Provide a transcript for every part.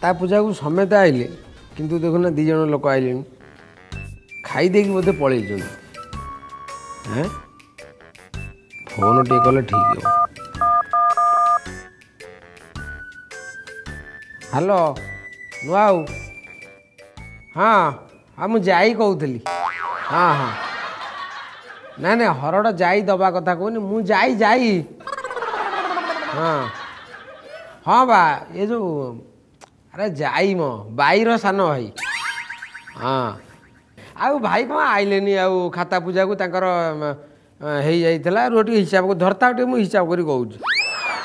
ଖାତା ପୂଜାକୁ ସମେତେ ଆଇଲେ, କିନ୍ତୁ ଦେଖୁନା 2 ଜଣ ଲୋକ ଆଇଲେଣି, ଖାଇ ଦେଇକି ବୋଧେ ପଳେଇଛନ୍ତି। ହେଁ, ଫୋନ୍ ଟିକେ କଲେ ଠିକ୍ ହେବ। ହ୍ୟାଲୋ ନୂଆ ଆଉ, ହଁ ହଁ ମୁଁ ଯାଇ କହୁଥିଲି। ହଁ ହଁ, ନାଇଁ ନାଇଁ ହରଡ଼ ଯାଇ ଦେବା କଥା କହୁନି, ମୁଁ ଯାଇ ଯାଇ। ହଁ ହଁ ବା, ଏ ଯେଉଁ ଆରେ ଯାଇ ମ ବାଇର ସାନ ଭାଇ। ହଁ ଆଉ ଭାଇ କ'ଣ ଆଇଲେନି ଆଉ ଖାତା ପୂଜାକୁ? ତାଙ୍କର ହେଇଯାଇଥିଲା। ରୁହ ଟିକେ ହିସାବ ଧରତା ଟିକେ, ମୁଁ ହିସାବ କରି କହୁଛି।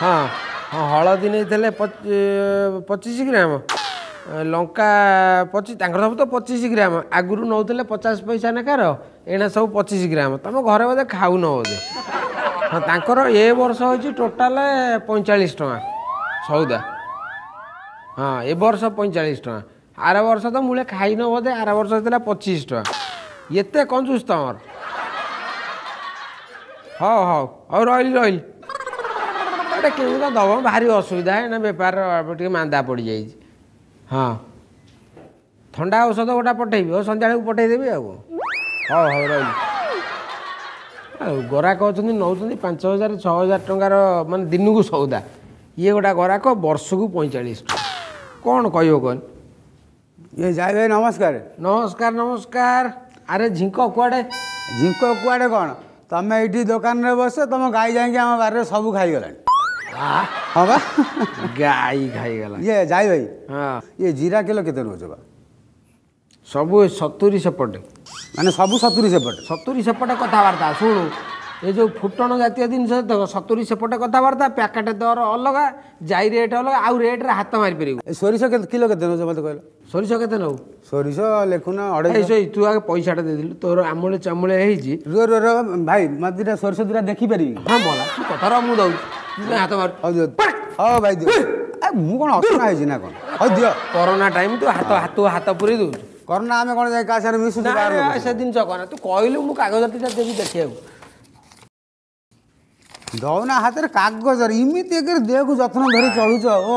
ହଁ ହଁ, ହଳଦୀ ନେଇଥିଲେ 25 ଗ୍ରାମ, ଲଙ୍କା 25, ତାଙ୍କର ସବୁ ତ 25 ଗ୍ରାମ। ଆଗରୁ ନେଉଥିଲେ 50 ପଇସା ନେଖାର, ଏଇନା ସବୁ 25 ଗ୍ରାମ। ତମ ଘରେ ବୋଧେ ଖାଉନ ବୋଧେ? ହଁ, ତାଙ୍କର ଏ ବର୍ଷ ହେଉଛି ଟୋଟାଲ 45 ଟଙ୍କା ସଉଦା। ହଁ, ଏ ବର୍ଷ 45 ଟଙ୍କା, ଆର ବର୍ଷ ତ ମୂଳେ ଖାଇନ ବୋଧେ, ଆର ବର୍ଷ ହେଇଥିଲା 25 ଟଙ୍କା। ଏତେ କଞ୍ଜୁସ ତମର? ହଉ ହଉ ହଉ, ରହିଲି ରହିଲି। ଏଇଟା କେମିତି କ'ଣ ଦେବ, ଭାରି ଅସୁବିଧା ଏଇନା, ବେପାର ଟିକେ ମାନ୍ଦା ପଡ଼ିଯାଇଛି। ହଁ, ଥଣ୍ଡା ଔଷଧ ଗୋଟା ପଠେଇବି। ହଉ, ସନ୍ଧ୍ୟାବେଳକୁ ପଠେଇଦେବି ଆଉ। ହଉ ହଉ, ରହିଲି। ଆଉ ଗରାକ ଅଛନ୍ତି ନେଉଛନ୍ତି 5,000 6,000 ଟଙ୍କାର ମାନେ ଦିନକୁ ସଉଦା, ଇଏ ଗୋଟା ଗରାକ ବର୍ଷକୁ 45 ଟଙ୍କା। କ'ଣ କହିବ କହନି? ଇଏ ଯାଇ ଭାଇ ନମସ୍କାର। ନମସ୍କାର ନମସ୍କାର। ଆରେ ଝିଙ୍କ କୁଆଡ଼େ? ଝିଙ୍କ କୁଆଡ଼େ କ'ଣ, ତମେ ଏଇଠି ଦୋକାନରେ ବସ, ତମ ଗାଈ ଯାଇକି ଆମ ବାରିରେ ସବୁ ଖାଇଗଲାଣି। ହଁ ବା, ଗାଈ ଖାଇଗଲା। ଇଏ ଯାଇ ଭାଇ, ହଁ, ଇଏ ଜିରା କିଲୋ କେତେ ନେଉଛ ବା? ସବୁ 70 ସେପଟେ। ମାନେ ସବୁ 70 ସେପଟେ? 70 ସେପଟେ କଥାବାର୍ତ୍ତା। ଶୁଣୁ, ଏ ଯେଉଁ ଫୁଟଣ ଜାତୀୟ ଜିନିଷ ଦେଖ, 70 ସେପଟେ କଥାବାର୍ତ୍ତା, ପ୍ୟାକେଟ ଦର ଅଲଗା, ଯାଇ ରେଟ୍ ଅଲଗା, ଆଉ ରେଟ୍ରେ ହାତ ମାରିପାରିବୁ। ଏ ସୋରିଷ କେତେ କିଲୋ କେତେ ନେଉଛ ମୋତେ କହିଲ? ସୋରିଷ କେତେ ନେବୁ? ସୋରିଷ ଲେଖୁନ 250। ସେଇ ତୁ ଆଗେ ପଇସାଟା ଦେଇଦେଲୁ, ତୋର ଆମୂଳେ ଚାମୁଳେ ହେଇଛି। ରୁହ ରୁହ ରୁହ ଭାଇ, ମୋତେ ଦୁଇଟା ସୋରିଷ ଦୁଇଟା ଦେଖିପାରିବି? ହଁ ମଲା, ତୁ କଥା ରହ, ମୁଁ ଦଉଛି, ହାତ ମାରୁ। ହଉ ଦିଅ, ହଉ ଭାଇ ଦିଅ। ମୁଁ କ'ଣ ଅସନା ହେଇଛି ନା କ'ଣ? ହଉ ଦିଅ। କରୋନା ଟାଇମ୍, ତୁ ହାତ ହାତ ହାତ ପୁରେଇ ଦଉଛୁ। କରୋନା ଆମେ କ'ଣ ଯାଇ କାହା ସାଙ୍ଗରେ ମିଶୁଛୁ? ସେ ଜିନିଷ କହନା, ତୁ କହିଲୁ ମୁଁ କାଗଜ ଦୁଇଟା ଦେବି ଦେଖିବାକୁ। ଦଉନା ହାତରେ କାଗଜରେ, ଏମିତି ଏକରେ ଦେହକୁ ଯତ୍ନ ଧରି ଚଳୁଛ। ଓ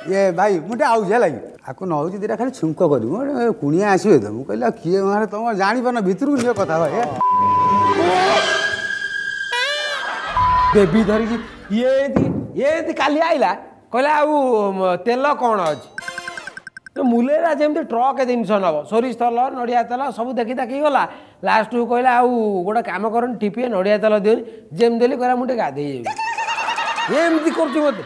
ଇଏ ଭାଇ, ମୁଁ ଟିକେ ଆଉଛି ହେଲା କି, ଆକୁ ନଉଛି ଦୁଇଟା ଖାଲି ଛୁଙ୍କ କରିବୁ, କୁଣିଆ ଆସିବେ ତ। ମୁଁ କହିଲି ଆଉ କିଏ ମାନେ ତମ ଜାଣିପାରୁନ, ଭିତରକୁ ନିଅ କଥା ଭାଇ। ବେବି ଧରିକି ଇଏ ଏମିତି କାଲି ଆଇଲା, କହିଲା ଆଉ ତେଲ କ'ଣ ଅଛି? ମୁଲେରା ଯେମିତି ଟ୍ରକ୍ ଜିନିଷ ନେବ, ସୋରିଷ ତେଲ ନଡ଼ିଆ ତେଲ ସବୁ ଦେଖି ଦାଖି ଗଲା। ଲାଷ୍ଟକୁ କହିଲା ଆଉ ଗୋଟେ କାମ କରନି, ଠିପିଏ ନଡ଼ିଆ ତେଲ ଦିଅନି। ଯେମିତି ଦେଲି, କହିଲା ମୁଁ ଟିକେ ଗାଧେଇ ଯିବି। ଏମିତି କରୁଛି ମୋତେ।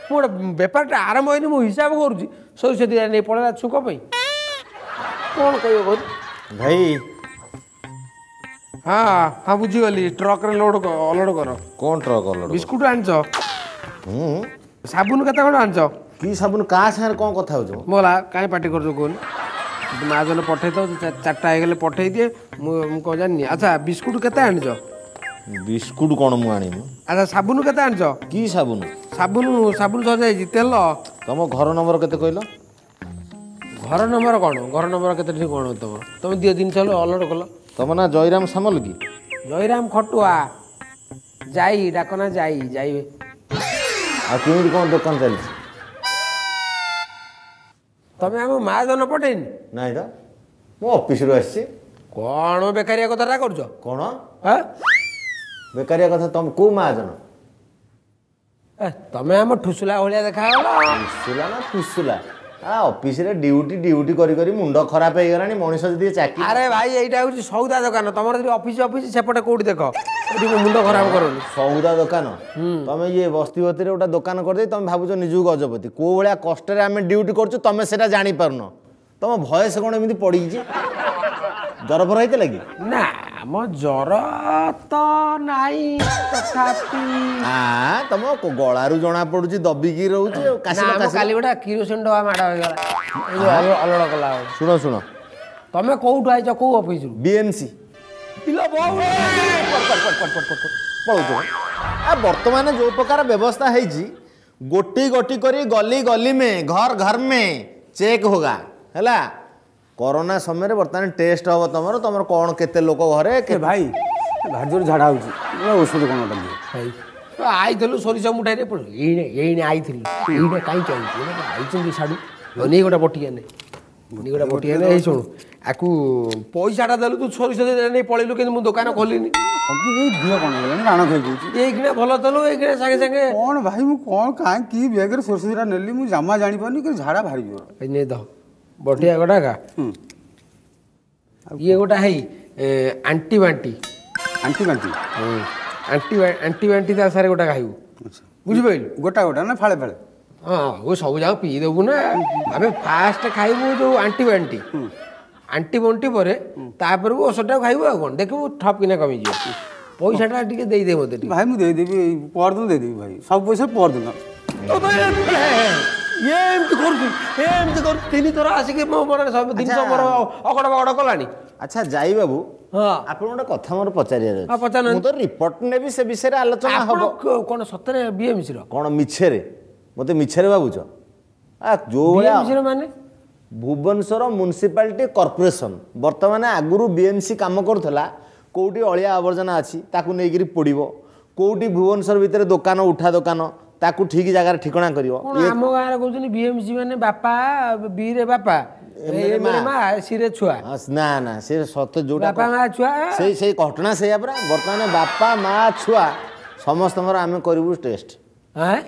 ମୁଁ ଗୋଟେ ବେପାରଟା ଆରମ୍ଭ ହେଇନି, ମୁଁ ହିସାବ କରୁଛି, ସୋରିଷ ଦିଟା ନେଇ ପଳେଇଲା ଛୁଙ୍କ ପାଇଁ। କ'ଣ କହିବ କହୁଛି ଭାଇ? ହଁ ହଁ, ବୁଝିଗଲି, ଟ୍ରକ୍ରେ ଲୋଡ଼ ଅଲୋଡ଼ କର। କ'ଣ ଟ୍ରକ୍ ଅଲୋଡ଼? ବିସ୍କୁଟ ଆଣିଛ? ସାବୁନ କେତେ ଖଣ୍ଡ ଆଣିଛ? କି ସାବୁନ? କାହା ସାଙ୍ଗରେ କ'ଣ କଥା ହଉଛ? ମୋଲା କାହିଁ ପାଟି କରୁଛ କହୁନି? ମା ଜଣ ପଠେଇ ଥାଉ, 4ଟା ହେଇଗଲେ ପଠେଇ ଦିଏ। ମୁଁ କ'ଣ ଜାଣିନି? ଆଚ୍ଛା, ବିସ୍କୁଟ କେତେ ଆଣିଛ? ବିସ୍କୁଟ କ'ଣ ମୁଁ ଆଣିନି। ଆଚ୍ଛା, ସାବୁନ କେତେ ଆଣିଛ? କି ସାବୁନ? ସାବୁନ ସାବୁନ ସଜାଇଛି, ତେଲ। ତମ ଘର ନମ୍ବର କେତେ କହିଲ? ଘର ନମ୍ବର କ'ଣ? ଘର ନମ୍ବର କେତେ କ'ଣ ତମର? ତମେ ଦିଅ ଜିନିଷ ଅଲୋଡ଼ କଲ। ତମ ନାଁ ଜୟରାମ ସାମଲ କି? ଜୟରାମ ଖଟୁଆ, ଯାଇ ଡାକନା ଯାଇ ଯାଇ। ଆଉ କେମିତି କ'ଣ ଦୋକାନ ଚାଲିଛି? ତମେ ଆମ ମା ଜନ ପଠେଇନି? ନାଇଁ ତ, ମୁଁ ଅଫିସରୁ ଆସିଛି। କ'ଣ ବେକାରିଆ କଥାଟା କରୁଛ? କ'ଣ ବେକାରିଆ କଥା? ତମ କୋଉ ମହାଜନ? ତମେ ଆମ ଠୁସୁଲା ଭଳିଆ ଦେଖାଗଲା। ଠୁସୁଲା ନା ଫୁସୁଲା? ଅଫିସରେ ଡ୍ୟୁଟି ଡ୍ୟୁଟି କରି କରି ମୁଣ୍ଡ ଖରାପ ହେଇଗଲାଣି ମଣିଷ। ଯଦି ଚାକିରି। ଆରେ ଭାଇ, ଏଇଟା ହେଉଛି ସଉଦା ଦୋକାନ। ତମର ଯଦି ଅଫିସ ଅଫିସ ସେପଟେ କୋଉଠି ଦେଖ, ଏଠି ମୁଣ୍ଡ ଖରାପ କରନି। ସଉଦା ଦୋକାନ? ତମେ ଇଏ ବସ୍ତି ବସ୍ତିରେ ଗୋଟେ ଦୋକାନ କରିଦେଇ ତମେ ଭାବୁଛ ନିଜକୁ ଗଜପତି। କୋଉ ଭଳିଆ କଷ୍ଟରେ ଆମେ ଡ୍ୟୁଟି କରୁଛୁ ତମେ ସେଟା ଜାଣିପାରୁନ। ତମ ଭଏସ କ'ଣ ଏମିତି ପଡ଼ିଛି? ଜର ଫର ହେଇଥିଲା କି? ନା, ଆମ ଜର ତ ନାଇଁ, ତଥାପି ତମ ଗଳାରୁ ଜଣା ପଡୁଛି ଦବିକି ରହୁଛି। କାଲି ଗୋଟେ କିରୋସିନ ଡବା ମାଡ଼ ହେଇଗଲା ଅଲଡ଼ କଲା। ଶୁଣ ଶୁଣ, ତମେ କୋଉଠୁ ଆଇଛ? କୋଉ ଅଫିସରୁ? ବିଏମସି। ପଳଉଛ? ଆ ବର୍ତ୍ତମାନ ଯୋଉ ପ୍ରକାର ବ୍ୟବସ୍ଥା ହେଇଛି, ଗୋଟି ଗୋଟି କରି ଗଲି ଗଲି ମେ ଘର ଘର ମେ ଚେକ୍ ହୋଗା ହେଲା। କରୋନା ସମୟରେ ବର୍ତ୍ତମାନ ଟେଷ୍ଟ ହବ ତମର, ତମର କ'ଣ କେତେ ଲୋକ ଘରେ। ଭାଇ, ଭାରି ଜୋର ଝାଡ଼ା ହେଉଛି, ଔଷଧ କ'ଣ ଗୋଟେ ଦିଅ ଭାଇ। ଆଇଥିଲୁ ସୋରିଷ ମୁଠାଇରେ ଏଇନେ ଏଇନେ ଆଇଥିଲୁ, ଏଇନେ କାହିଁକି ଆଇଛୁ? ଆଇଛନ୍ତି ସାଡ଼ୁ ନେଇ ଗୋଟେ ବଟିକା ନେ, ନେଇ ଗୋଟେ ବଟିକା ନେ। ଏଇ ଶୁଣୁ, ଆକୁ ପଇସାଟା ଦେଲୁ, ତୁ ସୋରିଷ ନେଇ ପଳେଇଲୁ, କିନ୍ତୁ ମୁଁ ଦୋକାନ ଖୋଲିନି। ଦିହ କ'ଣ ହେଇଗଲାଣି, ରାଣ ଖାଇଯାଉଛି। ଏଇଖିଣା ଭଲ ଥିଲୁ, ଏଇଖିଣା ସାଙ୍ଗେ ସାଙ୍ଗେ କ'ଣ ଭାଇ? ମୁଁ କ'ଣ କାହିଁ କି ବେଗରେ ସୋରିଷ ଦିଟା ନେଲି ମୁଁ ଜମା ଜାଣିପାରୁନି, କିନ୍ତୁ ଝାଡ଼ା ଭାରି ଜୋର। ନେଇ ଦ ବଟିକା ଗୋଟାକା। ଇଏ ଗୋଟା ହେଇ ଆଣ୍ଟି ବାଣ୍ଟି। ଆଣ୍ଟି ବାଣ୍ଟି? ଆଣ୍ଟି ଆଣ୍ଟି ବାଣ୍ଟି ତା ସାରେ ଗୋଟା ଖାଇବୁ, ବୁଝିପାରିଲୁ? ଗୋଟା ଗୋଟା ନା ଫାଳେ ଫାଳେ? ହଁ, ଓ ସବୁ ଯାକ ପିଇଦେବୁ ନା। ଆମେ ଫାଷ୍ଟ ଖାଇବୁ ଯୋଉ ଆଣ୍ଟି ବାଣ୍ଟି, ଆଣ୍ଟି ବଣ୍ଟି ପରେ ତାପରେ ଔଷଧଟାକୁ ଖାଇବୁ। ଆଉ କ'ଣ ଦେଖିବୁ, ଠପ୍ କିନା କମିଯିବ। ପଇସାଟା ଟିକେ ଦେଇଦେ ମୋତେ ଭାଇ। ମୁଁ ଦେଇଦେବି, ପରଦିନ ଦେଇଦେବି ଭାଇ, ସବୁ ପଇସା ପରଦିନ। ଇଏ ଏମିତି କରୁଛୁ, ଏମିତି କରୁଛୁ, ତିନି ଥର ଆସିକି ମୋ ମନରେ ସବୁ ଜିନିଷ ମୋର ଅଗଡ଼ ବଗଡ଼ କଲାଣି। ଆଚ୍ଛା ଯାଇ ବାବୁ, ହଁ, ଆପଣ ଗୋଟେ କଥା ମୋର ପଚାରିବାର ହଁ, ଅଛି। ପଚାରୁନାହାନ୍ତି। ମୁଁ ତ ରିପୋର୍ଟ ନେବି, ସେ ବିଷୟରେ ଆଲୋଚନା ହବ। ଆପଣ କ'ଣ ସତରେ ବିଏମସିର? କ'ଣ ମିଛରେ ମୋତେ ମିଛରେ ଭାବୁଛ? ଆ ଯୋଉ ଭଳିଆ ବିଏମସିର ମାନେ ଭୁବନେଶ୍ୱର ମ୍ୟୁନିସିପାଲିଟି କର୍ପୋରେସନ। ବର୍ତ୍ତମାନ ଆଗରୁ ବିଏମସି କାମ କରୁଥିଲା, କେଉଁଠି ଅଳିଆ ଆବର୍ଜନା ଅଛି ତାକୁ ନେଇକିରି ପୋଡ଼ିବ, କେଉଁଠି ଭୁବନେଶ୍ୱର ଭିତରେ ଦୋକାନ ଉଠା ଦୋକାନ ତାକୁ ଠିକ ଜାଗାରେ ଠିକଣା କରିବ। କ'ଣ ଆମ ଗାଁରେ କହୁଛନ୍ତି ବିଏମସି ମାନେ ବାପା, ବିରେ ବାପା, ଏମରେ ମା, ସିରେ ଛୁଆ। ନା ନା, ସେ ସତ ଯୋଉଟା ବାପା ମା ଛୁଆ, ସେଇ ସେଇ ଘଟଣା ସେଇଆ ପରା। ବର୍ତ୍ତମାନ ବାପା ମା ଛୁଆ ସମସ୍ତଙ୍କର ଆମେ କରିବୁ ଟେଷ୍ଟ। ହଁ,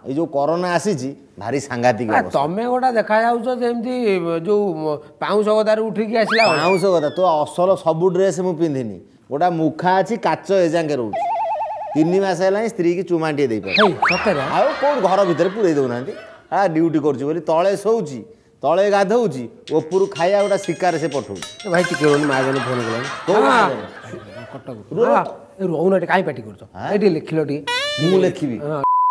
ଏଇ ଯୋଉ କରୋନା ଆସିଛି ଭାରି ସାଂଘାତିକ। ତମେ ଗୋଟା ଦେଖାଯାଉଛ ଯେମିତି ଯୋଉ ପାଉଁଶ ଗଦାରୁ ଉଠିକି ଆସିଲା। ପାଉଁଶ ଗଦା ତୋ ଅସଲ ସବୁ ଡ୍ରେସ୍ ମୁଁ ପିନ୍ଧିନି, ଗୋଟା ମୁଖା ଅଛି, କାଚ ଏଯାଙ୍କେ ରହୁଛି। 3 ମାସ ହେଲାଣି ସ୍ତ୍ରୀକି ଚୁମାଟିଏ ଦେଇପାରୁ ସତରେ? ଆଉ କୋଉଠି ଘର ଭିତରେ ପୁରେଇ ଦଉନାହାନ୍ତି। ହଁ, ଡ୍ୟୁଟି କରୁଛି ବୋଲି ତଳେ ଶୋଉଛି, ତଳେ ଗାଧଉଛି, ଉପରୁ ଖାଇବା ଗୋଟା ଶିକାରେ ସେ ପଠଉଛି। ଭାଇ ଟିକେ ରୁହନି, ମହାଜନ ଫୋନ କଲାଣି। କଟକ ରହୁନ, ଏଠି କାହିଁ ପାଟି କରୁଛ? ଏଠି ଲେଖିଲ ଟିକେ। ମୁଁ ଲେଖିବି?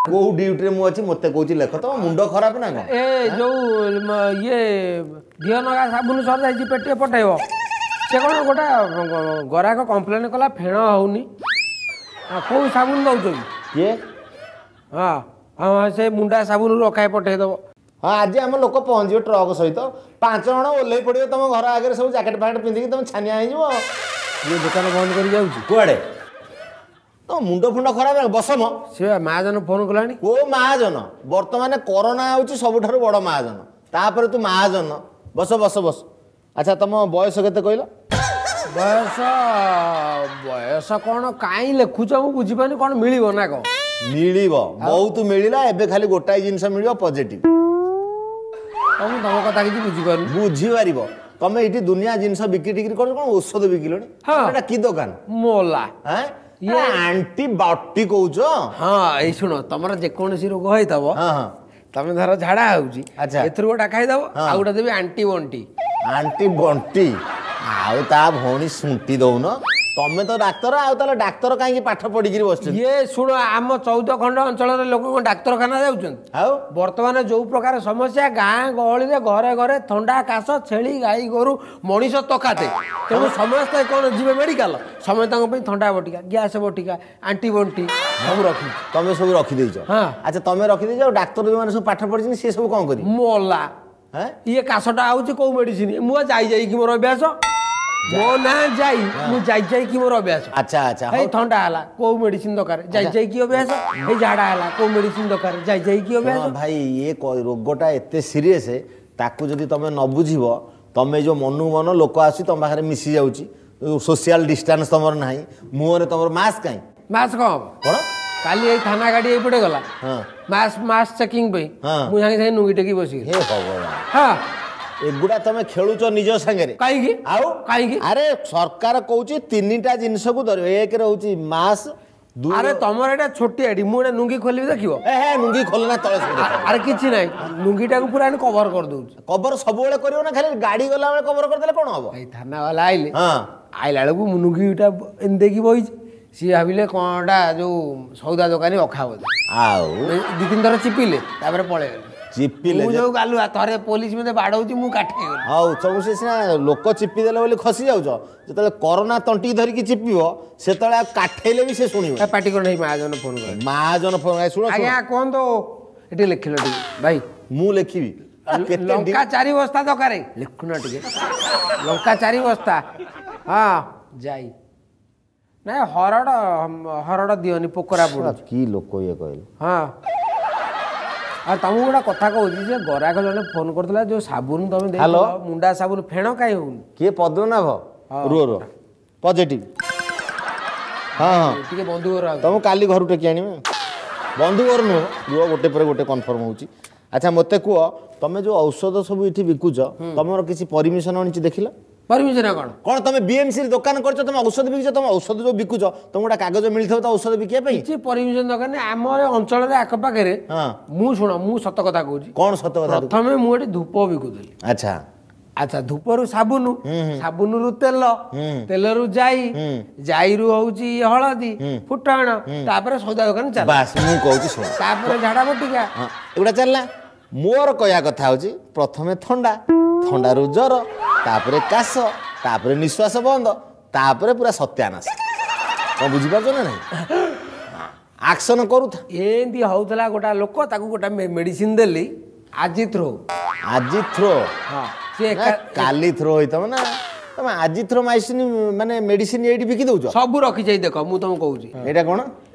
କୋଉ ଡ୍ୟୁଟିରେ ମୁଁ ଅଛି ମୋତେ କହୁଛି ଲେଖ? ତମ ମୁଣ୍ଡ ଖରାପ ନା କଣ? ଏ ଯୋଉ ଇଏ ଘିଅ ନଗା ସାବୁନ ସରିଯାଇଛି, ପେଟିଏ ପଠେଇବ। ସେ କ'ଣ ଗୋଟା ଗରାକ କମ୍ପ୍ଲେନ୍ କଲା ଫେଣ ହଉନି, କୋଉ ସାବୁନ ଦଉଛ କି? କିଏ? ହଁ ହଁ, ସେ ମୁଣ୍ଡା ସାବୁନ ରଖାଏ, ପଠେଇଦବ। ହଁ, ଆଜି ଆମ ଲୋକ ପହଞ୍ଚିବେ ଟ୍ରକ୍ ସହିତ, 5 ଜଣ ଓହ୍ଲେଇ ପଡ଼ିବେ ତମ ଘର ଆଗରେ, ସବୁ ଜ୍ୟାକେଟ୍ ଫ୍ୟାକେଟ୍ ପିନ୍ଧିକି, ତମେ ଛାନିଆ ହେଇଯିବ। ଇଏ ଦୋକାନ ବନ୍ଦ କରି ଯାଉଛି କୁଆଡ଼େ? ତମ ମୁଣ୍ଡ ଫୁଣ୍ଡ ଖରାପ? ବସ ମ। ସେ ମହାଜନ ଫୋନ କଲାଣି। କୋଉ ମହାଜନ? ବର୍ତ୍ତମାନ କରୋନା ହେଉଛି ସବୁଠାରୁ ବଡ଼ ମହାଜନ, ତାପରେ ତୁ ମହାଜନ। ବସ ବସ ବସ। ଆଚ୍ଛା, ତମ ବୟସ କେତେ କହିଲ? ବୟସ ବୟସ କ'ଣ କାହିଁ ଲେଖୁଛ ମୁଁ ବୁଝିପାରୁନି। କ'ଣ ମିଳିବ ନା କ'ଣ? ମିଳିବ, ବହୁତ ମିଳିଲା। ଏବେ ଖାଲି ଗୋଟାଏ ଜିନିଷ ମିଳିବ, ପଜିଟିଭ। ମୁଁ ତମ କଥା କିଛି ବୁଝିପାରୁନି। ବୁଝିପାରିବ। ତମେ ଏଇଠି ଦୁନିଆ ଜିନିଷ ବିକ୍ରି ଟିକ୍ରି କରୁଛ, କ'ଣ ଔଷଧ ବିକିଲଣି? ଏଟା କି ଦୋକାନ? ମୋଲା ଆଣ୍ଟିବାୟୋଟିକ କହୁଛ? ହଁ, ଏଇ ଶୁଣ, ତମର ଯେକୌଣସି ରୋଗ ହେଇଥିବ, ତମେ ଧର ଝାଡ଼ା ହଉଛି, ଆଚ୍ଛା, ଏଥିରୁ ଗୋଟା ଖାଇଦବ, ଆଉ ଗୋଟେ ଦେବି ଆଣ୍ଟି ବଣ୍ଟି। ଆଣ୍ଟି ବଣ୍ଟି ଆଉ ତା ଭଉଣୀ ଶୁଣ୍ଟି ଦଉନ। ତମେ ତ ଡାକ୍ତର, ଆଉ ତାହେଲେ ଡାକ୍ତର କାହିଁକି ପାଠ ପଢିକିରି ବସିଛନ୍ତି? ଇଏ ଶୁଣ, ଆମ 14 ଖଣ୍ଡ ଅଞ୍ଚଳରେ ଲୋକ କଣ ଡାକ୍ତରଖାନା ଯାଉଛନ୍ତି? ଆଉ ବର୍ତ୍ତମାନ ଯୋଉ ପ୍ରକାର ସମସ୍ୟା ଗାଁ ଗହଳିରେ ଘରେ ଘରେ ଥଣ୍ଡା କାଶ, ଛେଳି ଗାଈ ଗୋରୁ ମଣିଷ ତକାତେ, ତେଣୁ ସମସ୍ତେ କ'ଣ ଯିବେ ମେଡିକାଲ? ସମସ୍ତଙ୍କ ପାଇଁ ଥଣ୍ଡା ବଟିକା, ଗ୍ୟାସ ବଟିକା, ଆଣ୍ଟି ବଣ୍ଟି ସବୁ ରଖିଛି। ତମେ ସବୁ ରଖିଦେଇଛ? ହଁ। ଆଚ୍ଛା, ତମେ ରଖିଦେଇଛ, ଆଉ ଡାକ୍ତର ଯୋଉମାନେ ସବୁ ପାଠ ପଢିଛନ୍ତି ସିଏ ସବୁ କଣ କରିବେ? ମଲା, ଇଏ କାଶଟା ହଉଛି କୋଉ ମେଡିସିନ? ମୁଁ ଯାଇ ଯାଇକି ମୋର ଅଭ୍ୟାସ, ମୋ ନାଁ ଯାଇ, ମୁଁ ଯାଇ ଯାଇକି ମୋର ଅଭ୍ୟାସ। ଆଚ୍ଛା ଆଚ୍ଛା। ଏଇ ଥଣ୍ଡା ହେଲା କୋଉ ମେଡିସିନ ଦରକାର, ଯାଇ ଯାଇକି ଅଭ୍ୟାସ। ଏଇ ଝାଡ଼ା ହେଲା କୋଉ ମେଡିସିନ ଦରକାର, ଯାଇ ଯାଇକି ଅଭ୍ୟାସ। ଭାଇ, ଇଏ ରୋଗଟା ଏତେ ସିରିୟସ୍, ତାକୁ ଯଦି ତମେ ନ ବୁଝିବ, ତମେ ଯୋଉ ମନକୁ ମନ ଲୋକ ଆସୁଛି ତମ ପାଖରେ ମିଶି ଯାଉଛି, ସୋସିଆଲ ଡିଷ୍ଟାନ୍ସ ତମର ନାହିଁ, ମୁହଁରେ ତମର ମାସ୍କ କାହିଁ? ମାସ୍କ କଣ ହବ? କଣ? କାଲି ଏଇ ଥାନା ଗାଡ଼ି ଏଇପଟେ ଗଲା ମାସ୍କ ମାସ୍କ ଚେକିଂ ପାଇଁ, ମୁଁ ସାଙ୍ଗେ ସାଙ୍ଗେ ନୁଙ୍ଗି ଟେକି ବସିଗଲି। ହେ ଭଗବାନ! ହଁ, ଏଗୁଡ଼ା ତମେ ଖେଳୁଛ ନିଜ ସାଙ୍ଗରେ। କାହିଁକି? ଆଉ କାହିଁକି? ଆରେ ସରକାର କହୁଛି 3ଟା ଜିନିଷକୁ ଧରିବ, ଏକରେ ହଉଛି ମାସ୍କ। ଆରେ ତମର ଏଇଟା ଛୋଟିଆଟି, ମୁଁ ଏଇଟା ନୁଙ୍ଗି ଖୋଲିବି ଦେଖିବ। ଏ ହେ, ନୁଙ୍ଗି ଖୋଲ ନା ତଳେ। ଆରେ କିଛି ନାହିଁ, ନୁଙ୍ଗିଟାକୁ ପୁରା କଭର କରିଦଉଛି। କଭର ସବୁବେଳେ କରିବ ନା ଖାଲି ଗାଡ଼ି ଗଲାବେଳେ କଭର କରିଦେଲେ କ'ଣ ହବ? ଏଇ ଥାନା ବାଲା ଆଇଲେ, ଆଇଲା ବେଳକୁ ମୁଁ ନୁଙ୍ଗିଟା ଏମିତି ଦେଇକି ବଇଛି, ସିଏ ଭାବିଲେ କ'ଣଟା ଯୋଉ ସଉଦା ଦୋକାନୀ ଅଖା ବୋଧେ। ଆଉ 2 3 ଥର ଚିପିଲେ, ତାପରେ ପଳେଇଗଲେ। ଚିପିଲେ? ମୁଁ ଯୋଉ ଗାଲୁଆ, ଥରେ ପୋଲିସ ମତେ ବାଡ଼ଉଛି, ମୁଁ କାଠେଇ ଗଲି। ହଉ, ସବୁ ସେ ସିନା ଲୋକ ଚିପି ଦେଲେ ବୋଲି ଖସି ଯାଉଛ, ଯେତେବେଳେ କରୋନା ତଣ୍ଟି ଧରିକି ଚିପିବ ସେତେବେଳେ ଆଉ କାଠେଇଲେ ବି ସେ ଶୁଣିବ। ପାଟି କଣ? ମହାଜନ ଫୋନ କଲେ। ମହାଜନ ଫୋନ? ଶୁଣ ଆଜ୍ଞା, କୁହନ୍ତୁ। ଏଠି ଲେଖିଲ ଟିକେ ଭାଇ। ମୁଁ ଲେଖିବି? ଲଙ୍କା 4 ବସ୍ତା ଦରକାର, ଲେଖୁନ ଟିକେ। ଲଙ୍କା 4 ବସ୍ତା। ହଁ, ଯାଇ ନାଇଁ, ହରଡ଼ ହରଡ଼ ଦିଅନି, ପୋକରା ପଡୁଛି। କି ଲୋକ ଇଏ କହିଲେ? ହଁ, ଆଉ ତମକୁ ଗୋଟେ କଥା କହୁଛି, ଯେ ଗରାଖ ଜଣେ ଫୋନ କରିଥିଲା, ଯୋଉ ସାବୁନ ତମେ ଦେଇଥିଲ ମୁଣ୍ଡା ସାବୁନ, ଫେଣ କାହିଁ ହଉନି? କିଏ, ପଦ୍ମନାଭ? ରୁହ ରୁହ, ପଜିଟିଭ। ହଁ ହଁ, ଟିକେ ବନ୍ଧୁ ଘର। ତମକୁ କାଲି ଘରୁ ଟେକି ଆଣିବେ। ବନ୍ଧୁ ଘର ନୁହଁ, ରୁହ, ଗୋଟେ ପରେ ଗୋଟେ କନଫର୍ମ ହେଉଛି। ଆଚ୍ଛା ମୋତେ କୁହ, ତମେ ଯୋଉ ଔଷଧ ସବୁ ଏଠି ବିକୁଛ, ତମର କିଛି ପରମିଶନ ଆଣିଛି ଦେଖିଲ? ପରମିଶନ କ'ଣ? କ'ଣ ତମେ ବିଏମସି ଦୋକାନ କରିଛ, ତମେ ଔଷଧ ବିକୁଛ, ତମେ ଔଷଧ ଯୋଉ ବିକୁଛ, ତମକୁ ଗୋଟେ କାଗଜ ମିଳିଥିବ ତ ଔଷଧ ବିକିବା ପାଇଁ? କିଛି ପରମିଶନ ଦରକାର ନାହିଁ। ଆମର ଅଞ୍ଚଳରେ ଆଖପାଖରେ, ମୁଁ ଶୁଣ, ମୁଁ ସତ କଥା କହୁଛି। କ'ଣ ସତ କଥା? ପ୍ରଥମେ ମୁଁ ଏଠି ଧୂପ ବିକୁଥିଲି। ଆଚ୍ଛା ଆଚ୍ଛା, ଧୂପରୁ ସାବୁନ, ସାବୁନରୁ ତେଲ, ତେଲରୁ ଜାଇ, ଜାଇରୁ ହଉଛି ହଳଦୀ, ଫୁଟଣ, ତାପରେ ସଉଦା ଦୋକାନ ଚାଲିଲା। ବାସ୍, ମୁଁ କହୁଛି ଶୁଣ। ତାପରେ ଝାଡା ବଟିକା, ଏଗୁଡ଼ା ଚାଲିଲା। ମୋର କହିବା କଥା ହଉଛି, ପ୍ରଥମେ ଥଣ୍ଡା, ଥଣ୍ଡାରୁ ଜ୍ୱର, ତାପରେ କାଶ, ତାପରେ ନିଶ୍ୱାସ ବନ୍ଦ, ତାପରେ ପୁରା ସତ୍ୟାନାଶ। କ'ଣ ବୁଝିପାରୁଛ ନା ନାହିଁ? ଆକ୍ସନ କରୁଥା। ଏମିତି ହଉଥିଲା ଗୋଟା ଲୋକ, ତାକୁ ଗୋଟା ମେଡିସିନ ଦେଲି, ଆଜିଥ୍ରୋ। ଆଜିଥ୍ରୋ? ହଁ, ସିଏ କାଲି ଥ୍ରୋ ହେଇଥିବ ନା। ତମେ ଆଜିଥ୍ରୋମାଇସିନ ମାନେ ମେଡିସିନ ଏଇଠି ବିକି ଦଉଛ? ସବୁ ରଖିଯାଇ ଦେଖ, ମୁଁ ତମକୁ କହୁଛି। ଏଇଟା କ'ଣ?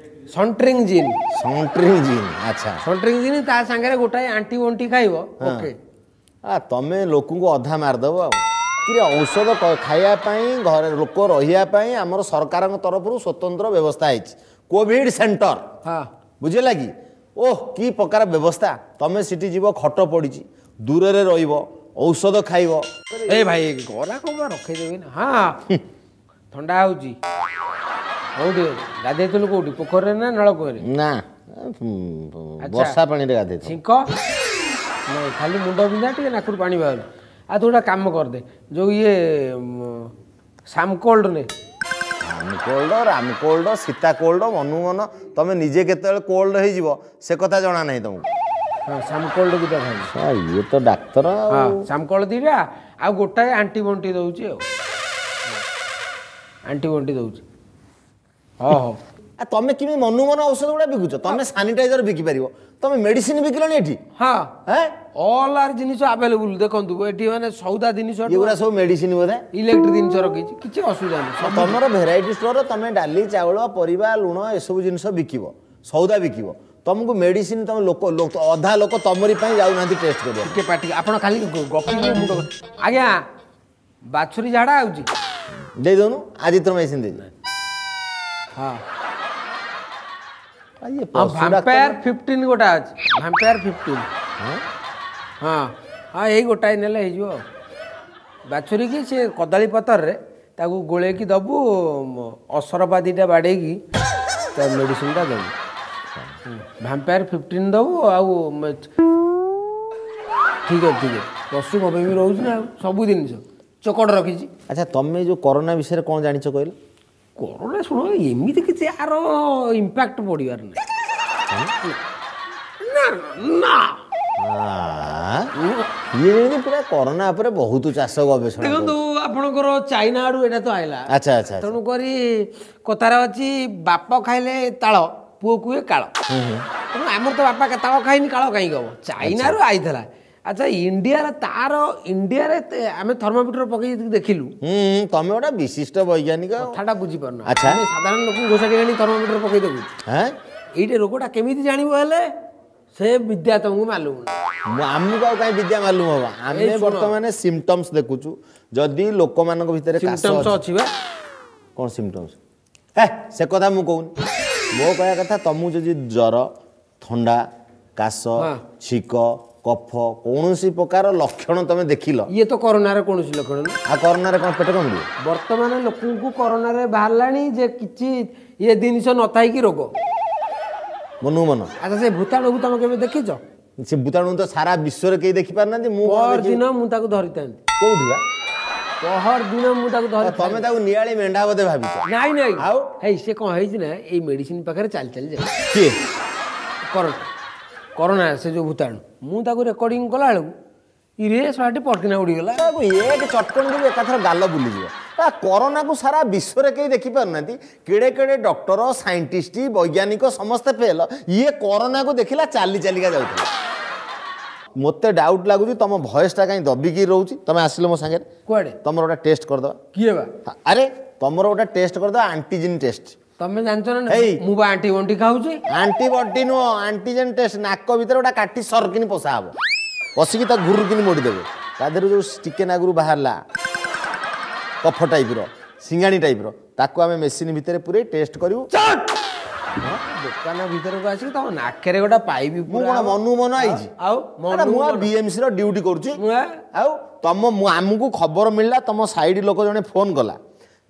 ସଣ୍ଟ୍ରିଂ ଜିନ୍। ସଣ୍ଟ୍ରିଂ ଜିନ୍, ଆଚ୍ଛା। ସଣ୍ଟ୍ରିଂ ଜିନ୍, ତା ସାଙ୍ଗରେ ଗୋଟାଏ ଆଣ୍ଟି ବଣ୍ଟି ଖାଇବ। ଓକେ। ଆ ତମେ ଲୋକଙ୍କୁ ଅଧା ମାରିଦେବ। ଆଉ କିରେ, ଔଷଧ ଖାଇବା ପାଇଁ, ଘରେ ଲୋକ ରହିବା ପାଇଁ ଆମର ସରକାରଙ୍କ ତରଫରୁ ସ୍ୱତନ୍ତ୍ର ବ୍ୟବସ୍ଥା ହେଇଛି, କୋଭିଡ ସେଣ୍ଟର। ବୁଝିଲା କି? ଓହ, କି ପ୍ରକାର ବ୍ୟବସ୍ଥା! ତମେ ସେଠି ଯିବ, ଖଟ ପଡ଼ିଛି, ଦୂରରେ ରହିବ, ଔଷଧ ଖାଇବ। ଏ ଭାଇ, ଗରାଖ ରଖେଇଦେବି ନା। ହଁ, ଥଣ୍ଡା ହେଉଛି। କୋଉଠି ଗାଧେଇଥିଲୁ? କୋଉଠି, ପୋଖରୀରେ ନା ନଳକୂଅରେ? ନା, ବର୍ଷା ପାଣିରେ ଗାଧେଇଥିଲି। ଛିଙ୍କ ନାଇଁ, ଖାଲି ମୁଣ୍ଡ ବିନ୍ଧା, ଟିକେ ନାକରୁ ପାଣି ବାହାରୁ। ଆଉ ତୁ ଗୋଟେ କାମ କରିଦେ, ଯୋଉ ଇଏ ସାମକୋଲ୍ଡ ନେ। Cold, Ram cold, Sita cold, Manu ମନ। ତମେ ନିଜେ କେତେବେଳେ କୋଲ୍ଡ ହେଇଯିବ ସେ କଥା ଜଣା ନାହିଁ ତମକୁ। ହଁ, ସାମକୋଲ୍ଡ ଦୁଇଟା ଖାଇବି। ଇଏ ତ ଡାକ୍ତର। ହଁ, ସାମକୋଲ୍ଡ ଦୁଇଟା ଆଉ ଗୋଟାଏ ଆଣ୍ଟି ବଣ୍ଟି ଦଉଛି। ଆଉ ଆଣ୍ଟି ବଣ୍ଟି ଦଉଛି। ହଁ ହଉ। ତମେ କେମିତି ମନୁ ମନ ଔଷଧ ଗୁଡ଼ା ବିକୁଛ? ତମେ ସାନିଟାଇଜର ବିକି ପାରିବ, ତମେ ମେଡିସିନ ବିକିଲଣି ଏଠି? ହଁ, ଅଲ୍ ଆର୍ ଜିନିଷ ଆଭେଲେବୁଲ ଦେଖନ୍ତୁ ଏଠି, ମାନେ ସଉଦା ଜିନିଷ। ଏଗୁଡ଼ା ସବୁ ମେଡିସିନ ବୋଧେ? ଇଲେକ୍ଟ୍ରିକ ଜିନିଷ ରଖିଛି, କିଛି ଅସୁବିଧା ନାହିଁ। ତମର ଭେରାଇଟି ଷ୍ଟୋର, ତମେ ଡାଲି, ଚାଉଳ, ପରିବା, ଲୁଣ ଏସବୁ ଜିନିଷ ବିକିବ, ସଉଦା ବିକିବ, ତମକୁ ମେଡିସିନ? ତମ ଲୋକ, ଅଧା ଲୋକ ତମରି ପାଇଁ ଯାଉନାହାନ୍ତି ଟେଷ୍ଟ କରିବା। ଟିକେ ପାଟି, ଆପଣ ଖାଲି ଗପିବେ ମୁଣ୍ଡ। ଆଜ୍ଞା, ବାଛୁରୀ ଝାଡ଼ା ହେଉଛି। ଦେଇଦଉନୁ ଆଜିଥ୍ରୋମାଇସିନ ଦେଇଦେ। ହଁ, ଭାମ୍ପାୟାର 15 ଗୋଟା ଅଛି, ଭାମ୍ପାୟାର 15। ହଁ ହଁ, ଏଇ ଗୋଟାଏ ନେଲେ ହେଇଯିବ। ଆଉ ବାଛୁରୀକି ସେ କଦଳୀ ପତ୍ରରେ ତାକୁ ଗୋଳେଇକି ଦେବୁ, ଅସରପା ଦୁଇଟା ବାଡ଼େଇକି ତା ମେଡ଼ିସିନଟା ଦେବୁ, ଭାମ୍ପାୟାର 15 ଦେବୁ। ଆଉ ଠିକ୍ ଅଛି, ଠିକ୍ ଅଛି। ପଶୁ ବି ରହୁଛି ନା, ଆଉ ସବୁ ଜିନିଷ ଚୋକଡ଼ ରଖିଛି। ଆଚ୍ଛା, ତମେ ଯେଉଁ କରୋନା ବିଷୟରେ କ'ଣ ଜାଣିଛ କହିଲ? କରୋନା, ଶୁଣ, ଏମିତି କିଛି ଆର ଇମ୍ପାକ୍ଟ ପଡ଼ିବାର ନାହିଁ। ନା ନା, ଇଏ ଯେମିତି ପୁରା କରୋନା ଉପରେ ବହୁତ ଚାଷ ଗବେଷଣା। ଦେଖନ୍ତୁ, ଆପଣଙ୍କର ଚାଇନା ଆଡ଼ୁ ଏଇଟା ତ ଆଇଲା। ଆଚ୍ଛା ଆଚ୍ଛା। ତେଣୁକରି କଥାରେ ଅଛି, ବାପ ଖାଇଲେ ତାଳ ପୁଅ କୁହେ କାଳ। ତେଣୁ ଆମର ତ ବାପା ତାଳ ଖାଇନି, କାଳ କାହିଁକି ହବ? ଚାଇନାରୁ ଆଇଥିଲା। ଆଚ୍ଛା, ଇଣ୍ଡିଆର ତାର ଇଣ୍ଡିଆରେ ଆମେ ଥର୍ମୋମିଟର ପକେଇ ଦେଖିଲୁ। ତମେ ଗୋଟେ ବିଶିଷ୍ଟ ବୈଜ୍ଞାନିକ, କଥାଟା ବୁଝିପାରୁନ। ଆଚ୍ଛା, ସାଧାରଣ ଲୋକଙ୍କୁ ଘୋଷାକି ଆଣି ଥର୍ମୋମିଟର ପକେଇ ଦେଖୁଛୁ। ଏଇଟା ରୋଗଟା କେମିତି ଜାଣିବ ହେଲେ ସେ ବିଦ୍ୟା ତମକୁ ମାଲୁମ? ଆମକୁ ଆଉ କାହିଁ ବିଦ୍ୟା ମାଲୁମ ହବ? ଆମେ ବର୍ତ୍ତମାନ ସିମ୍ପଟମ୍ସ ଦେଖୁଛୁ। ଯଦି ଲୋକମାନଙ୍କ ଭିତରେ ସିମ୍ପଟମ୍ସ ଅଛି ବା? କ'ଣ ସିମ୍ପଟମ୍ସ? ହେ, ସେ କଥା ମୁଁ କହୁନି। ମୋ କହିବା କଥା, ତମକୁ ଯଦି ଜ୍ୱର, ଥଣ୍ଡା, କାଶ, ଛିଙ୍କ, କଫ, କୌଣସି ପ୍ରକାର ଲକ୍ଷଣ ତମେ ଦେଖିଲ। ଇଏ ତ କରୋନାର କୌଣସି ଲକ୍ଷଣ ନୁହେଁ। ଆଉ କରୋନାରେ କ'ଣ ପେଟ କାମୁଡ଼ିବ? ବର୍ତ୍ତମାନ ଲୋକଙ୍କୁ କରୋନାରେ ବାହାରିଲାଣି ଯେ କିଛି ଇଏ ଜିନିଷ ନଥାଇକି ରୋଗ ମନକୁ ମନ। ଆଚ୍ଛା, ସେ ଭୂତାଣୁକୁ ତମେ କେବେ ଦେଖିଛ? ସେ ଭୂତାଣୁ ତ ସାରା ବିଶ୍ୱରେ କେହି ଦେଖିପାରୁନାହାନ୍ତି। ମୁଁ ପହର ଦିନ ମୁଁ ତାକୁ ଧରିଥାନ୍ତି। କୋଉଠି ବା? ପହର ଦିନ ମୁଁ ତାକୁ ଧରି। ତମେ ତାକୁ ନିଆଳି ମେଣ୍ଢା ବୋଧେ ଭାବିଛ? ନାଇଁ ନାଇଁ। ଆଉ ହେଇ, ସେ କ'ଣ ହେଇଛି ନା, ଏଇ ମେଡିସିନ ପାଖରେ ଚାଲି ଚାଲି ଯାଏ। କିଏ? କରୋନା, କରୋନା ସେ ଯୋଉ ଭୂତାଣୁ। ମୁଁ ତାକୁ ରେକର୍ଡିଂ କଲା ବେଳକୁ ଇରେ ଶଳାଟି ପଟକିନା ଉଡ଼ିଗଲା। ତାକୁ ଏକ ଚଟକଣି ଦେବୁ, ଏକାଥର ଗାଲ ବୁଲିଯିବ। କରୋନାକୁ ସାରା ବିଶ୍ୱରେ କେହି ଦେଖିପାରୁନାହାନ୍ତି, କେଡ଼େ କେଡ଼େ ଡକ୍ଟର, ସାଇଣ୍ଟିଷ୍ଟ, ବୈଜ୍ଞାନିକ ସମସ୍ତେ ଫେଲ, ଇଏ କରୋନାକୁ ଦେଖିଲା ଚାଲି ଚାଲିକା ଯାଉଥିଲା। ମୋତେ ଡାଉଟ୍ ଲାଗୁଛି, ତମ ଭଏସଟା କାହିଁ ଦବିକି ରହୁଛି। ତମେ ଆସିଲ ମୋ ସାଙ୍ଗରେ। କୁଆଡ଼େ? ତମର ଗୋଟେ ଟେଷ୍ଟ କରିଦେବା। କିଏ ବା? ଆରେ, ତମର ଗୋଟେ ଟେଷ୍ଟ କରିଦେବା, ଆଣ୍ଟିଜିନ୍ ଟେଷ୍ଟ। ତମେ ଜାଣିଛ ନା ମୁଁ ବା ଆଣ୍ଟିବଣ୍ଟି ଖାଉଛି? ଆଣ୍ଟିବଣ୍ଟି ନୁହଁ, ଆଣ୍ଟିଜେନ୍ ଟେଷ୍ଟ। ନାକ ଭିତରେ ଗୋଟେ କାଠି ସରକିନି ପଶା ହବ, ପଶିକି ତା ଘୁରୁକିନି ମୋଡ଼ିଦେବେ। ତା ଦେହରୁ ଯୋଉ ଟିକେ ନାଗୁରୁ ବାହାରିଲା କଫ ଟାଇପ୍ର, ସିଙ୍ଗାଣି ଟାଇପ୍ର, ତାକୁ ଆମେ ମେସିନ୍ ଭିତରେ ପୁରେଇ ଟେଷ୍ଟ କରିବୁ। ଦୋକାନ ଭିତରକୁ ଆସିକି ତମ ନାକରେ ଗୋଟେ ପାଇବି? ମୁଁ କଣ ମନୁ ମନ ଆଇଛି? ଆଉ ମୁଁ ବିଏମସି ର ଡ୍ୟୁଟି କରୁଛି। ଆଉ ତମ ଆମକୁ ଖବର ମିଳିଲା, ତମ ସାଇଡ୍ ଲୋକ ଜଣେ ଫୋନ୍ କଲା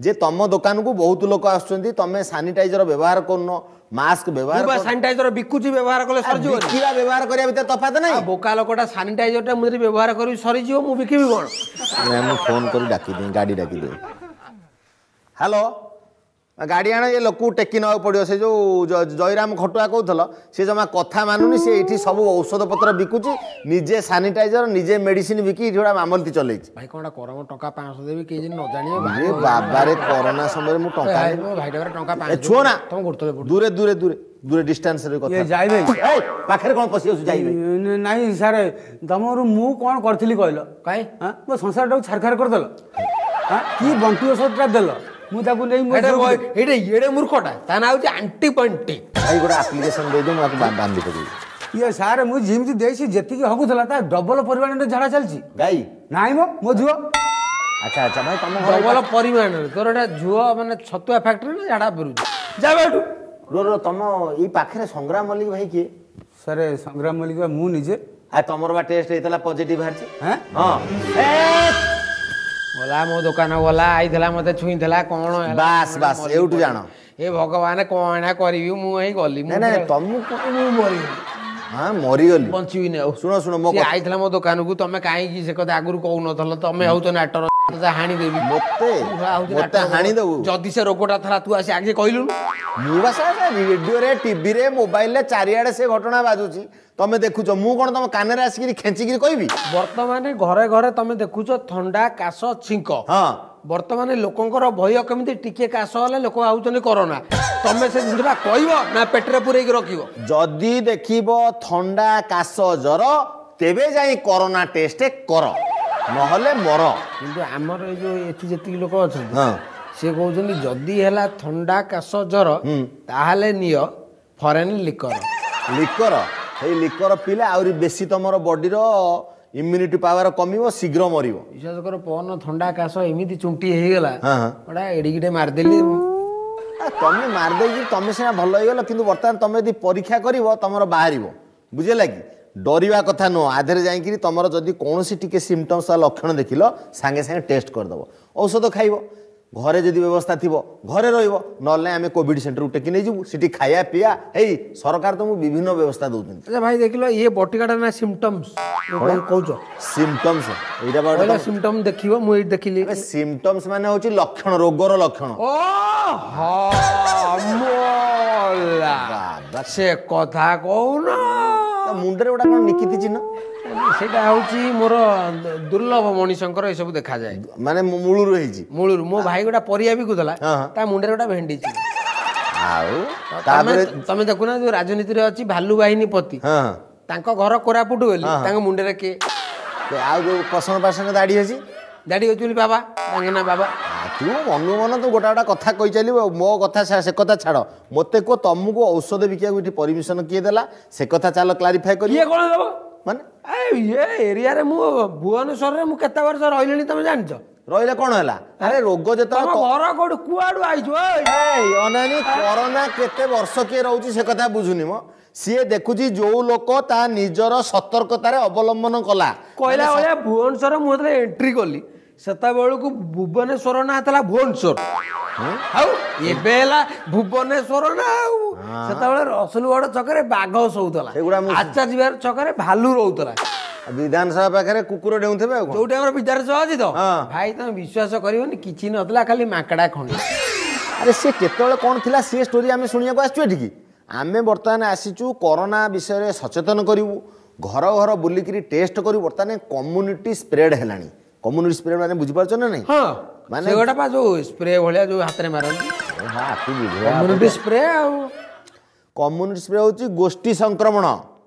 ଯେ ତମ ଦୋକାନକୁ ବହୁତ ଲୋକ ଆସୁଛନ୍ତି, ତମେ ସାନିଟାଇଜର ବ୍ୟବହାର କରୁନ, ମାସ୍କ ବ୍ୟବହାର। ସାନିଟାଇଜର ବିକୁଛି, ବ୍ୟବହାର କଲେ ସରିଯିବ। ବିକିବା ବ୍ୟବହାର କରିବା ଭିତରେ ତଫାତ ନାହିଁ। ବୋକା ଲୋକଟା, ସାନିଟାଇଜରଟା ମୁଁ ଯଦି ବ୍ୟବହାର କରିବି ସରିଯିବ, ମୁଁ ବିକିବି କ'ଣ? ମୁଁ ଫୋନ୍ କରି ଡାକିଦିଏ, ଗାଡ଼ି ଡାକିଦିଏ। ହ୍ୟାଲୋ, ଗାଡ଼ି ଆଣ, ଏ ଲୋକକୁ ଟେକି ନେବାକୁ ପଡ଼ିବ। ସେ ଯେଉଁ ଜୟରାମ ଖଟୁଆ କହୁଥିଲ, ସେ ଜମା କଥା ମାନୁନି। ସେ ଏଇଠି ସବୁ ଔଷଧ ପତ୍ର ବିକୁଛି, ନିଜେ ସାନିଟାଇଜର ନିଜେ ମେଡିସିନ ବିକି ଏଇଠି ଗୋଟେ ମାମଲତି ଚଲେଇଛି। ଭାଇ କ'ଣ କର, ମୁଁ ଟଙ୍କା 500 ଦେବି, କେହି ଯେମିତି ନ ଜାଣିବେ। ବାବାରେ, କରୋନା ସମୟରେ ମୁଁ ଟଙ୍କା ଭାଇ ଟଙ୍କା ଛୁଅ ନା, ଦୂରେ ଦୂରେ ଦୂରେ ଦୂରେ ଡିଷ୍ଟାନ୍ସରେ କଥା ଯାଇବେ। ପାଖରେ କ'ଣ ପଶି ଯାଉଛୁ? ଯାଇବେ ନାଇଁ ସାର୍। ତମର ମୁଁ କ'ଣ କରିଥିଲି କହିଲ? କାଇଁ ମୋ ସଂସାରଟାକୁ ଛାରଖାର କରିଦେଲ। କି ବଣ୍ଟି ଔଷଧଟା ଦେଲ, ମୁଁ ତାକୁ ନେଇ। ଏଇଟା ଏଡ଼େ ମୂର୍ଖଟା, ତା ନାଁ ହେଉଛି ଆଣ୍ଟିବଣ୍ଟି। ଭାଇ ଗୋଟେ ଆପ୍ଲିକେସନ ଦେଇଦିଅ, ମୁଁ ଆକୁ ବାନ୍ଧି ପକେଇବି। ଇଏ ସାର୍, ମୁଁ ଯେମିତି ଦେଇଛି ଯେତିକି ହଗୁଥିଲା ତା ଡବଲ ପରିମାଣରେ ଝାଡ଼ା ଚାଲିଛି। ଗାଈ ନାଇଁ ମ, ମୋ ଝିଅ। ଆଚ୍ଛା ଆଚ୍ଛା ଭାଇ, ତମ ଡବଲ ପରିମାଣରେ ତୋର ଏଟା ଝୁଅ ମାନେ ଛତୁଆ ଫ୍ୟାକ୍ଟ୍ରି ନା ଝାଡ଼ା ଫେରୁଛି? ଯାବେ ଏଠୁ। ରୁହ, ତମ ଏଇ ପାଖରେ ସଂଗ୍ରାମ ମଲ୍ଲିକ ଭାଇ କିଏ? ସାର୍, ସଂଗ୍ରାମ ମଲ୍ଲିକ ମୁଁ ନିଜେ। ଆଉ ତମର ବା ଟେଷ୍ଟ ହେଇଥିଲା, ପଜିଟିଭ ବାହାରିଛି। ହଁ, ଗଲା ମୋ ଦୋକାନ ଗଲା, ଆଇଥିଲା, ମତେ ଛୁଇଁଥିଲା, କ'ଣ? ବାସ୍ ବାସ୍, ଏଇଠୁ ଜାଣ। ଏ ଭଗବାନ, କ'ଣ କରିବି ମୁଁ? ଏଇ ଗଲି। ତମକୁ ମୁଁ ମରିଗଲି। ହଁ, ମରିଗଲି, ବଞ୍ଚିବିନି ଆଉ। ଶୁଣ ଶୁଣ, ମୋ ଆଇଥିଲା ମୋ ଦୋକାନକୁ, ତମେ କାହିଁକି ସେ କଥା ଆଗରୁ କହୁନଥିଲ? ତମେ ହଉଛ ନାଟର, ତତେ ହାଣିଦେବି। ମତେ ମତେ ହାଣିଦେବୁ ଯଦି ସେ ରୋଗଟା ଥିଲା, ତୁ ଆସି ଆଗେ କହିଲୁନୁ। ମୁଁ ବା ରେଡିଓରେ, ଟିଭିରେ, ମୋବାଇଲରେ ଚାରିଆଡ଼େ ସେ ଘଟଣା ବାଜୁଛି, ତମେ ଦେଖୁଛ। ମୁଁ କ'ଣ ତମ କାନରେ ଆସିକିରି ଖେଞ୍ଚିକିରି କହିବି? ବର୍ତ୍ତମାନ ଘରେ ଘରେ ତମେ ଦେଖୁଛ ଥଣ୍ଡା, କାଶ, ଛିଙ୍କ। ହଁ, ବର୍ତ୍ତମାନ ଲୋକଙ୍କର ଭୟ କେମିତି ଟିକେ କାଶ ହେଲେ ଲୋକ ଭାବୁଛନ୍ତି କରୋନା। ତମେ ସେ ଜିନିଷଟା କହିବ ନା ପେଟରେ ପୁରେଇକି ରଖିବ? ଯଦି ଦେଖିବ ଥଣ୍ଡା, କାଶ, ଜ୍ୱର, ତେବେ ଯାଇ କରୋନା ଟେଷ୍ଟ କର, ନହେଲେ ମର। କିନ୍ତୁ ଆମର ଏଇ ଯୋଉ ଏଠି ଯେତିକି ଲୋକ ଅଛନ୍ତି, ସେ କହୁଛନ୍ତି ଯଦି ହେଲା ଥଣ୍ଡା, କାଶ, ଜ୍ୱର, ତାହେଲେ ନିଅ ଫରେନ୍ ଲିକର। ଲିକର? ସେଇ ଲିକର ପିଇଲେ ଆହୁରି ବେଶୀ ତମର ବଡିର ଇମ୍ୟୁନିଟି ପାୱାର କମିବ, ଶୀଘ୍ର ମରିବ। ବିଶ୍ୱାସ କର, ପବନ ଥଣ୍ଡା କାଶ ଏମିତି ଚୁଣ୍ଟି ହେଇଗଲା, ଗୋଟା ଏଡ଼ିକିଟେ ମାରିଦେଲି। ତମେ ମାରିଦେଇକି ତମେ ସିନା ଭଲ ହେଇଗଲ, କିନ୍ତୁ ବର୍ତ୍ତମାନ ତମେ ଯଦି ପରୀକ୍ଷା କରିବ ତମର ବାହାରିବ। ବୁଝିଲା କି? ଡରିବା କଥା ନୁହଁ। ଆଧରେ ଯାଇକିରି ତମର ଯଦି କୌଣସି ଟିକେ ସିମ୍ପଟମ୍ସ ବା ଲକ୍ଷଣ ଦେଖିଲ, ସାଙ୍ଗେ ସାଙ୍ଗେ ଟେଷ୍ଟ କରିଦେବ, ଔଷଧ ଖାଇବ। ଘରେ ଯଦି ବ୍ୟବସ୍ଥା ଥିବ ଘରେ ରହିବ, ନହେଲେ ଆମେ କୋଭିଡ ସେଣ୍ଟରକୁ ଟେକି ନେଇଯିବୁ। ସେଠି ଖାଇବା ପିଇବା ହେଇ ସରକାର ତମକୁ ବିଭିନ୍ନ ବ୍ୟବସ୍ଥା ଦେଉଛନ୍ତି। ଆଚ୍ଛା ଭାଇ, ଦେଖିଲ ଇଏ ବଟିକାଟା ନା ସିମ୍ପଟମ୍ସ କହୁଛ? ସିମ୍ପଟମ୍ସ ଏଇଟା ସିମ୍ପଟମ୍ ଦେଖିବ, ମୁଁ ଏଇଠି ଦେଖିଲି। ସିମ୍ପଟମ୍ସ ମାନେ ହଉଛି ଲକ୍ଷଣ, ରୋଗର ଲକ୍ଷଣ। ଓ ସେ କଥା କହୁନ। ମୁଣ୍ଡରେ ଗୋଟେ କଣ ନିକିତି ଚିହ୍ନ? ସେଇଟା ହେଉଛି ମୋର ଦୁର୍ଲଭ ମଣିଷଙ୍କର ଏସବୁ ଦେଖାଯାଏ। ମାନେ ମୂଳରୁ ହେଇଛି? ମୂଳରୁ। ମୋ ଭାଇ ଗୋଟେ ପରିବା ବିକୁଥିଲା, ତା ମୁଣ୍ଡରେ ଗୋଟେ ଭେଣ୍ଡି। ଆଉ ତାପରେ ତମେ ଦେଖୁନା ଯୋଉ ରାଜନୀତିରେ ଅଛି ଭାଲୁ ବାହିନୀ ପତି, ତାଙ୍କ ଘର କୋରାପୁଟ ବୋଲି ତାଙ୍କ ମୁଣ୍ଡରେ କିଏ? ଆଉ ଯୋଉ ପସଙ୍ଗ ପାସଙ୍ଗ ଦାଢି ଅଛି? ଦାଢି ଅଛି ବୋଲି ବାବା, ତାଙ୍କ ନା ବାବା। ତୁ ମନୁ ମନ ତୁ ଗୋଟା ଗୋଟା କଥା କହି ଚାଲିବ। ମୋ କଥା ସେ କଥା ଛାଡ଼, ମୋତେ କୁହ ତମକୁ ଔଷଧ ବିକିବାକୁ ଏଠି ପରମିଶନ କିଏ ଦେଲା? ସେ କଥା ଚାଲ କ୍ଲାରିଫାଏ କରି। କିଏ କ'ଣ ଦେବ ମାନେ? ଏ ଏରିଆରେ ମୁଁ ଭୁବନେଶ୍ୱରରେ ମୁଁ କେତେ ବର୍ଷ ରହିଲିଣି ତମେ ଜାଣିଛ? ରହିଲେ କ'ଣ ହେଲା? ଆରେ ରୋଗ ଯେତେବେଳେ ଘର କୋଉଠି, କୁଆଡୁ ଆଇଛୁ? ଅନାନି, କରୋନା କେତେ ବର୍ଷ କିଏ ରହୁଛି ସେ କଥା ବୁଝୁନି ମ। ସିଏ ଦେଖୁଛି ଯୋଉ ଲୋକ ତା ନିଜର ସତର୍କତାରେ ଅବଲମ୍ବନ କଲା। କହିଲା ଭଳିଆ ଭୁବନେଶ୍ୱର ମୁଁ ଯେତେବେଳେ ଏଣ୍ଟ୍ରି କଲି ସେତେବେଳକୁ ଭୁବନେଶ୍ୱର ନାଁ ଥିଲା ଭୁବନେଶ୍ୱର, ଆଉ ଏବେ ହେଲା ଭୁବନେଶ୍ୱର ନା। ଆଉ ସେତେବେଳେ ରସୁଲଗଡ଼ ଛକରେ ବାଘ ଶୋଉଥିଲା, ଆଚାର୍ଯ୍ୟ ଛକରେ ଭାଲୁ ରହୁଥିଲା, ବିଧାନସଭା ପାଖରେ କୁକୁର ଡେଉଁଥିବେ। ଆଉ ଯୋଉଠି ଆମର ବିଧାନସଭା ଅଛି ତ ଭାଇ, ତମେ ବିଶ୍ୱାସ କରିବନି, କିଛି ନଥିଲା, ଖାଲି ମାଙ୍କଡ଼ା ଖଣ୍ଡି। ଆରେ ସିଏ କେତେବେଳେ କ'ଣ ଥିଲା ସିଏ ଷ୍ଟୋରି ଆମେ ଶୁଣିବାକୁ ଆସିଛୁ ଏଠିକି? ଆମେ ବର୍ତ୍ତମାନ ଆସିଛୁ କରୋନା ବିଷୟରେ ସଚେତନ କରିବୁ, ଘର ଘର ବୁଲିକିରି ଟେଷ୍ଟ କରିବୁ। ବର୍ତ୍ତମାନ କମ୍ୟୁନିଟି ସ୍ପ୍ରେଡ୍ ହେଲାଣି। କମ୍ୟୁନିଟି ସ୍ପ୍ରେଡ୍ ମାନେ ବୁଝିପାରୁଛ ନା ନାଇଁ? ହଁ, ମାନେ ସେଗୁଡ଼ା ପା ଯୋଉ ସ୍ପ୍ରେ ଭଳିଆ ଯୋଉ ହାତରେ ମାରନ୍ତି, କମ୍ୟୁନିଟି ସ୍ପ୍ରେ। ଆଉ କମ୍ୟୁନିଟି ସ୍ପ୍ରେ ହେଉଛି ଗୋଷ୍ଠୀ ସଂକ୍ରମଣ,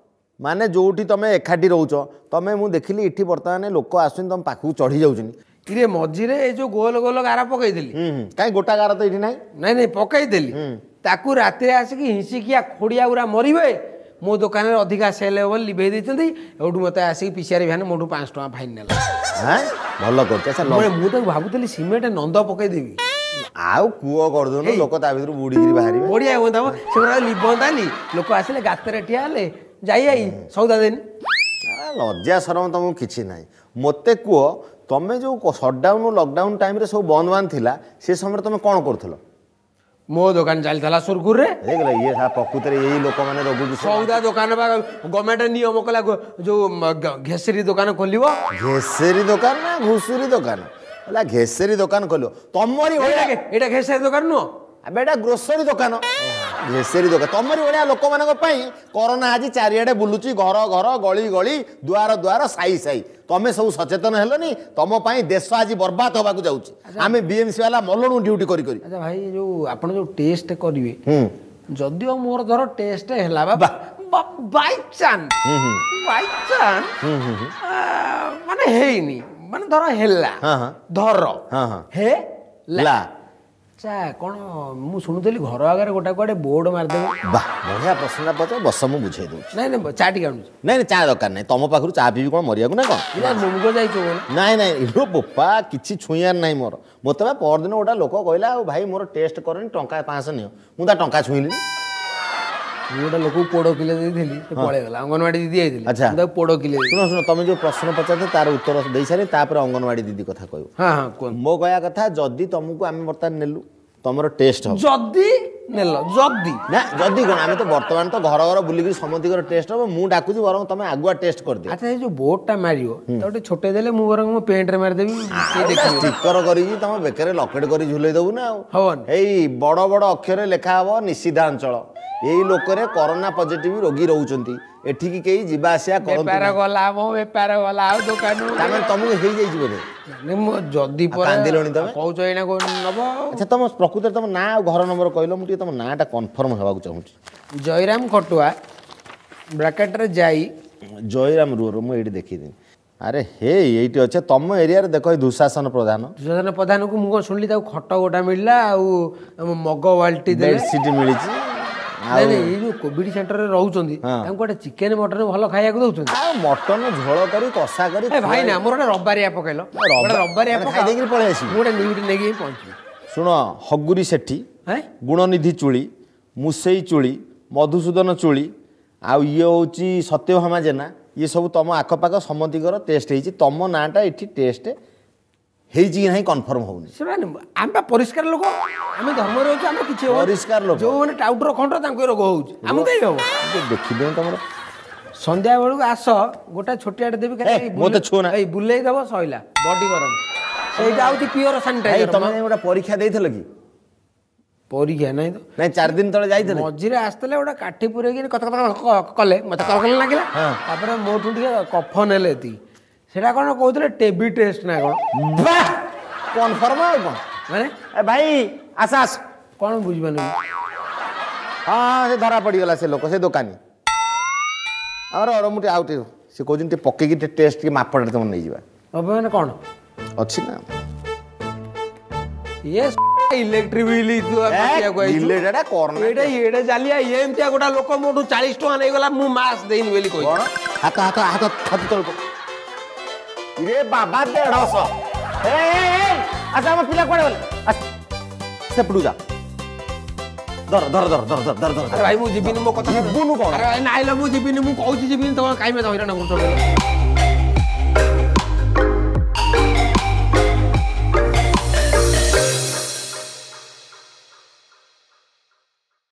ମାନେ ଯୋଉଠି ତମେ ଏକାଠି ରହୁଛ। ତମେ ମୁଁ ଦେଖିଲି ଏଠି ବର୍ତ୍ତମାନ ଲୋକ ଆସୁଛନ୍ତି ତମ ପାଖକୁ ଚଢ଼ି ଯାଉଛନ୍ତି। ଇରେ ମଝିରେ ଏଇ ଯୋଉ ଗୋଲ ଗୋଲ ଗାର ପକେଇଥିଲି। କାଇଁ ଗୋଟା ଗାର ତ ଏଇଠି ନାହିଁ। ନାଇଁ ନାଇଁ, ପକେଇଥିଲି ତାକୁ ରାତିରେ ଆସିକି ହିଁସିକିଆ ଖୋଡ଼ିଆ ଗୁରା ମରିବେ, ମୋ ଦୋକାନରେ ଅଧିକା ସେଲ୍ ହେବ ବୋଲି ଲିଭେଇ ଦେଇଛନ୍ତି। ଏଉଠୁ ମୋତେ ଆସିକି ପିସିଆର ଭ୍ୟାନ୍ ମୋଠୁ 5 ଟଙ୍କା ଫାଇନ୍ ନେଲା। ଭଲ କରୁଛି। ମୁଁ ତାକୁ ଭାବୁଥିଲି ସିମେଣ୍ଟ ନନ୍ଦ ପକେଇଦେବି, ଆଉ କୂଅ କରିଦଉନୁ, ଲୋକ ତା ଭିତରୁ ବୁଡ଼ିକିରି ବାହାରିବେ, ବଢିଆ ହୁଅନ୍ତା। ସେଗୁଡ଼ା ଲିଭନ୍ତାନି, ଲୋକ ଆସିଲେ ଗାତରେ ଠିଆ ହେଲେ ଯାଇ ଯାଇ ସଉଦା ଦେନି। ଲଜ୍ଜା ସରମ ତମକୁ କିଛି ନାହିଁ। ମୋତେ କୁହ, ତମେ ଯୋଉ ସଟଡାଉନ୍ ଲକଡାଉନ୍ ଟାଇମ୍ରେ ସବୁ ବନ୍ଦ ବାନ୍ଦ ଥିଲା, ସେ ସମୟରେ ତମେ କ'ଣ କରୁଥିଲ? ମୋ ଦୋକାନ ଚାଲିଥିଲା ସୁରଖୁରରେ। ଇଏ ପ୍ରକୃତରେ ଏଇ ଲୋକମାନେ ରୋଗକୁ ସଉଦା ଦୋକାନ ବା ଗଭର୍ଣ୍ଣମେଣ୍ଟ ନିୟମ କଲା, ଯୋଉ ଘେସେରୀ ଦୋକାନ ଖୋଲିବ। ଘେସେରୀ ଦୋକାନ ନା ଘୁଷୁରୀ ଦୋକାନ? ହେଲା, ଘେସେରୀ ଦୋକାନ ଖୋଲିବ ତମରି ଭଳିଆ। ଏଇଟା ଘେସେରୀ ଦୋକାନ ନୁହଁ ଆବେ, ଏଇଟା ଗ୍ରୋସରୀ ଦୋକାନ। ଘେସେରୀ ଦୋକାନ ତମରି ଭଳିଆ ଲୋକମାନଙ୍କ ପାଇଁ କରୋନା ଆଜି ଚାରିଆଡ଼େ ବୁଲୁଛି, ଘର ଘର, ଗଳି ଗଳି, ଦୁଆର ଦୁଆର, ସାହି ସାହି। ତମେ ସବୁ ସଚେତନ ହେଲନି, ତମ ପାଇଁ ଦେଶ ଆଜି ବର୍ବାଦ ହେବାକୁ ଯାଉଛି। ଆମେ ବିଏମସି ବାଲା ମଲଣୁ ଡ୍ୟୁଟି କରି କରି। ଆଚ୍ଛା ଭାଇ, ଯୋଉ ଆପଣ ଯୋଉ ଟେଷ୍ଟ କରିବେ, ଯଦିଓ ମୋର ଧର ଟେଷ୍ଟ ହେଲା ବା ବାଇଚାନ୍ସ ବାଇଚାନ୍ସ ମାନେ ହେଇନି, ମାନେ ଧର ହେଲା, ଧର ହେଲା, ଆଚ୍ଛା କ'ଣ ମୁଁ ଶୁଣୁଥିଲି ଘର ଆଗରେ ଗୋଟା କୁଆଡ଼େ ବୋର୍ଡ ମାରିଦେବେ? ବାহ, ବଢ଼ିଆ ପ୍ରଶ୍ନଟା ପଚାର, ବସ ମୁଁ ବୁଝେଇ ଦେଉଛି। ନାଇଁ ନାଇଁ, ଚା ଟିକେ ଆଣୁଛି। ନାଇଁ ନାଇଁ, ଚା ଦରକାର ନାହିଁ। ତମ ପାଖରୁ ଚା ପିଇବି କ'ଣ ମରିବାକୁ ନା କ'ଣ? ମୁଗ ଯାଇଛୁ? ନାଇଁ ନାଇଁ, ଇଲୋ ବୋପା, କିଛି ଛୁଇଁବାର ନାହିଁ ମୋର। ମୋତେ ବା ପରଦିନ ଗୋଟା ଲୋକ କହିଲା, ଆଉ ଭାଇ ମୋର ଟେଷ୍ଟ କରନି, ଟଙ୍କା 500 ନିଅ। ମୁଁ ତା ଟଙ୍କା ଛୁଇଁଲିନି। ମୁଁ ଗୋଟେ ଲୋକକୁ ପୋଡ଼ କିଲେ ଦେଇଥିଲି, ସେ ପଳେଇଗଲା। ଅଙ୍ଗନବାଡ଼ି ଦିଦି ଯାଇଥିଲି। ଆଚ୍ଛା, ତାକୁ ପୋଡ଼ କିଲେ। ଶୁଣ ଶୁଣ, ତମେ ଯୋଉ ପ୍ରଶ୍ନ ପଚାରିଛ ତାର ଉତ୍ତର ଦେଇସାରି ତାପରେ ଅଙ୍ଗନବାଡ଼ି ଦିଦି କଥା କହିବ। ହଁ ହଁ, କୁହନ୍ତୁ। ମୋ କହିବା କଥା, ଯଦି ତମକୁ ଆମେ ବର୍ତ୍ତମାନ ନେଲୁ, ତମର ଟେଷ୍ଟ ହବ। ଯଦି ନେଲ, ଯଦି ନା ଯଦି କ'ଣ, ଆମେ ତ ବର୍ତ୍ତମାନ ତ ଘର ଘର ବୁଲିକିରି ସମସ୍ତଙ୍କର ଟେଷ୍ଟ ହବ। ମୁଁ ଡାକୁଛି ବରଂ ତମେ ଆଗୁଆ ଟେଷ୍ଟ କରିଦିଅ। ଆଚ୍ଛା, ଏଇ ଯୋଉ ବୋର୍ଡଟା ମାରିବ ତାକୁ ଟିକେ ଛୋଟେଇ ଦେଲେ ମୁଁ ବରଂ ମୋ ପେଣ୍ଟରେ ମାରିଦେବି, ଷ୍ଟିକର କରିକି ତମ ବେକରେ ଲକେଟ କରି ଝୁଲେଇ ଦବୁ ନା ଆଉ ହବନି। ଏଇ ବଡ଼ ବଡ଼ ଅକ୍ଷରରେ ଲେଖା ହବ ନିଷିଦ୍ଧାଞ୍ଚଳ, ଏଇ ଲୋକରେ କରୋନା ପଜିଟିଭ ରୋଗୀ ରହୁଛନ୍ତି, ଏଠିକି କେହି ଯିବା ଆସିବା କରନ୍ତୁ। ବେପାର ଗଲା, ମୋ ବେପାର ଗଲା, ଆଉ ଦୋକାନ। ତାମାନେ ତମକୁ ହେଇଯାଇଛି ବୋଧେ? ମୁଁ ଯଦି କାନ୍ଦିଲଣି ତମେ କହୁଛ ଏଇନା ନବ। ଆଚ୍ଛା, ତମ ପ୍ରକୃତରେ ତମ ନାଁ ଆଉ ଘର ନମ୍ବର କହିଲ, ମୁଁ ଟିକେ ତମ ନାଁଟା କନଫର୍ମ ହେବାକୁ ଚାହୁଁଛି। ଜୟରାମ ଖଟୁଆ, ବ୍ରାକେଟରେ ଯାଇ। ଜୟରାମ, ରୁହ ମୁଁ ଏଇଠି ଦେଖିଦେବି। ଆରେ ହେ, ଏଇଠି ଅଛେ ତମ ଏରିଆରେ। ଦେଖ, ଏଇ ଦୁଶାସନ ପ୍ରଧାନ। ଦୁଶାସନ ପ୍ରଧାନକୁ ମୁଁ କ'ଣ ଶୁଣିଲି ତାକୁ ଖଟ ଗୋଟା ମିଳିଲା ଆଉ ମଗ ବାଲ୍ଟି, ବେଡସିଟ୍ ମିଳିଛି। ନାଇଁ ନାଇଁ, ଏଇ ଯୋଉ କୋଭିଡ ସେଣ୍ଟରରେ ରହୁଛନ୍ତି ତାଙ୍କୁ ଗୋଟେ ଚିକେନ ମଟନ ଭଲ ଖାଇବାକୁ ଦଉଛନ୍ତି? ଆଉ ମଟନ ଝୋଳ କରି କଷା କରି। ଭାଇ ନା, ମୋର ଗୋଟେ ରବିବାରିଆ ପକେଇଲ, ରବିବାରିଆ ଖାଇ ଦେଇକିରି ପଳେଇ ଆସିବି। ମୁଁ ଗୋଟେ ନ୍ୟୁଟ୍ ନେଇକି ପହଞ୍ଚିବି। ଶୁଣ, ହଗୁରି ସେଠି, ଗୁଣନିଧି ଚୁଳି, ମୁସେଇ ଚୁଳି, ମଧୁସୂଦନ ଚୁଳି, ଆଉ ଇଏ ହେଉଛି ସତ୍ୟଭାମା ଜେନା, ଇଏ ସବୁ ତମ ଆଖପାଖ ସମସ୍ତଙ୍କର ଟେଷ୍ଟ ହେଇଛି। ତମ ନାଁଟା ଏଠି ଟେଷ୍ଟ ହେଇଛି କି ନାହିଁ କନଫର୍ମ ହଉନି। ସେମାନେ ଆମେ ବା ପରିଷ୍କାର ଲୋକ, ଆମେ ଧର୍ମରେ ଅଛୁ, ଆମେ କିଛି ପରିଷ୍କାର ଲୋକ। ଯୋଉମାନେ ଟାଉଟର ଖଣ୍ଡ ତାଙ୍କୁ ରୋଗ ହଉଛି, ଆମକୁ କାହିଁ ହବ? ଦେଖିଦିଅ ତମର। ସନ୍ଧ୍ୟା ବେଳକୁ ଆସ, ଗୋଟେ ଛୋଟିଆଟେ ଦେବି, ମୋତେ ଛୁଅନା, ଏଇ ବୁଲେଇ ଦବ, ସଇଲା, ବଡି ଗରମ। ସେଇଟା ହଉଛି ପିଓର ସାନିଟାଇଜର। ତମେ ଗୋଟେ ପରୀକ୍ଷା ଦେଇଥିଲ କି? ପରୀକ୍ଷା ନାଇଁ ତ। ନାଇଁ, 4 ଦିନ ତଳେ ଯାଇଥିଲେ, ମଝିରେ ଆସିଥିଲେ, ଗୋଟେ କାଠି ପୁରେଇକି କଥା କଥା କଲେ, ମତେ କଲ କଲ ଲାଗିଲା। ତାପରେ ମୋଠୁ ଟିକେ କଫ ନେଲେ ଏତିକି। ସେଟା କ'ଣ କହୁଥିଲେ, ଟେବି ଟେଷ୍ଟ ନା କ'ଣ? ବାহ, କନଫର୍ମ ଆଉ କ'ଣ ମାନେ। ଏ ଭାଇ ଆସ ଆସ। କ'ଣ ବୁଝିପାରୁନି? ହଁ ହଁ, ସେ ଧରା ପଡ଼ିଗଲା ସେ ଲୋକ, ସେ ଦୋକାନୀ ଆମର। ମୁଁ ଟିକେ ଆଉ ଟିକେ ସେ କହୁଛନ୍ତି ଟିକେ ପକେଇକି ଟିକେ ଟେଷ୍ଟ ଟିକେ ମାପଟା ତମେ ନେଇଯିବା। ମାନେ କ'ଣ ଅଛି ନା ଇଏ ଇଲେକ୍ଟ୍ରିକ ବିଲ୍? ଏଇଟା ଏଇଟା ଚାଲିଆ ଏମିତିଆ ଗୋଟା ଲୋକ ମୋଠୁ 40 ଟଙ୍କା ନେଇଗଲା, ମୁଁ ମାସ୍କ ଦେଇନି ବୋଲି କହି। ହାତ ହାତ ହାତ ହାତ ତଳକୁ ରେ ବାବା, 150। ଆଚ୍ଛା, ଆମ ପିଲା କୁଆଡ଼େ ଗଲେ? ସେପଟକୁ ଯା, ଧର ଧର ଧର ଧର ଧର ଧର ଧର। ଭାଇ ମୁଁ ଯିବିନି, ମୋ କଥା ଯିବୁନୁ କ'ଣ? ନାଇଁ ମୁଁ ଯିବିନି, ମୁଁ କହୁଛି ଯିବିନି। ତମେ କାହିଁ ହଇରାଣ କରୁଛ?